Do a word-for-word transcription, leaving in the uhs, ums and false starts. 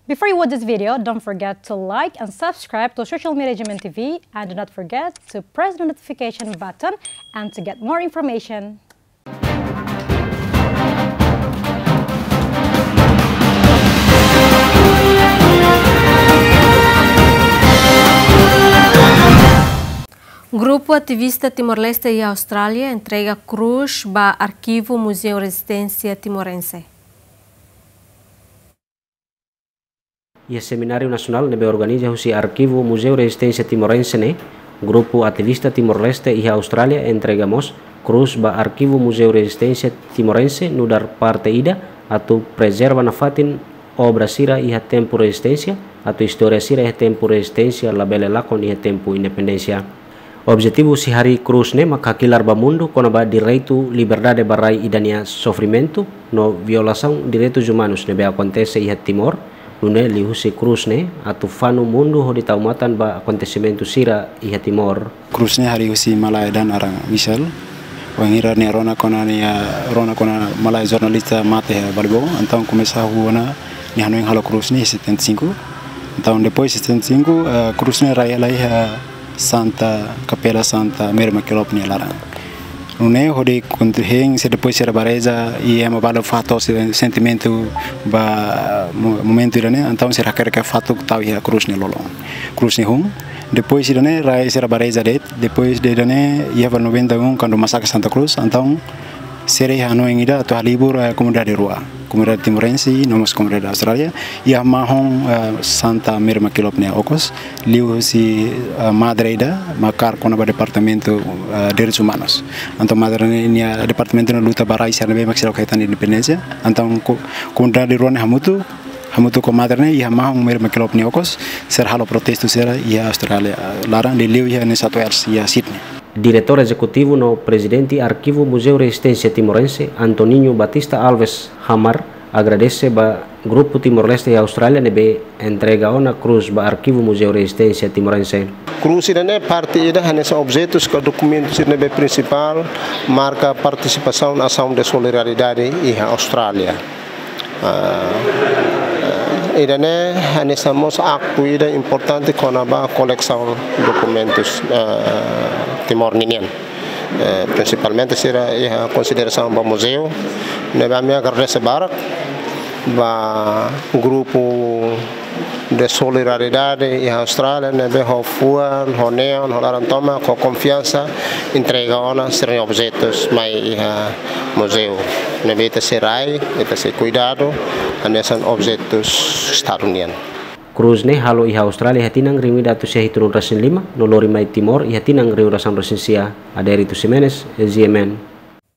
Before you watch this video, don't forget to like and subscribe to Social Media G M N T V, and do not forget to press the notification button and to get more information. Grupu ativista Timor-Leste iha Austrália entrega krús ba arkivu Muzeu Rezisténsia Timorense. Iha semináriu nasionál ne'ebé organiza husi Arkivu Muzeu Rezisténsia Timorense ne'e, grupu ativista Timor-Leste iha Austrália entrega mós krús ba Arkivu Muzeu Rezisténsia Timorense nu'udar parte ida atu prezerva nafatin obra sira iha tempu rezisténsia, atu istória sira iha tempu rezisténsia labele lakon iha tempu independénsia. Objetivu husi harii krús ne'e mak hakilar ba mundu kona-ba direitu liberdade ba rai ida-nia sofrimentu no violasaun direitus umanus ne'ebé akontese iha Timor, nune'e liuhusi krús ne'e atu fanu mundu hodi tau matan ba akontesimentu sira iha Timor. Krús ne'e harii husi malae ida naran Michel. Wainhira nia rona kona nia, rona kona malae jornalista mate iha Balibó, entaun komesa hahú ona nia hanoin halo krús ne'e setenta e cinco. Entaun depois setenta e cinco, eh, krús ne'e rai hela iha Santa, Kapela Santa Mary MacKillop nia laran. Nune'e hodi kontu hein, se depois sira ba reza, i ema balu fahe to'o sira-nia sentimentu ba mo-, momentu ida-ne'e, entaun sira hakerek fatuk tau iha krús nia lolon. Krús ne'e hun, depois ida-ne'e rai sira ba reza de'it, depois de ida-ne'e iha ba noventa e um, kuandu masakre Santa Cruz, entaun sira iha hanoin ida atu halibur, eh, komunidade rua, komunidade timorense, no mós komunidade Austrália, iha mahon, eh, Santa Mary MacKillop nia okos, liuhusi, eh, madre ida mak kaer kona-ba departamentu, eh, direitus umanus. Entaun madre ne'e nia departamentu ne'e luta ba rai sira ne'ebé mak seidauk hetan independénsia. Entaun ko-, komunidade rua ne'e hamutuk, hamutuk ho madre ne'e iha mahon Mary MacKillop nia okos, sira halo protestu sira iha Austrália, eh, laran, liuliu iha New South Wales, iha Sydney. Diretór Ezekutivu no Prezidente Arkivu Muzeu Rezisténsia Timorense, Antoninho Batista Alves Hamar, agradese ba grupu Timor-Leste iha Austrália ne'ebé entrega ona krús ba Arkivu Muzeu Rezisténsia Timorense. Krús ida-ne'e parte ida hanesan objetus ka dokumentus ida ne'ebé prinsipál marka partisipasaun asaun de solidariedade iha Austrália. Ah, ida-ne'e hanesan mós aktu ida importante kona-ba kolesaun dokumentus, ah, Timor ninian. Eh, prinsipalmente sira iha konsiderasaun ba muzeu, ne'ebé ami agradese barak ba grupu de solidariedade iha Austrália, ne'ebé ho fuan, ho neon, ho laran tomak, ho konfiansa, entrega ona sira-nia objetus mai iha muzeu. Ne'ebé ita sei rai, ita sei kuidadu, hanesan objetus Estadu nian. Krús ne'e halo iha Austrália iha tinan rihun ida atus sia hitunulu resin lima, no lori mai Timor iha tinan rihun ida atus sia. Adérito Ximenes, G M N.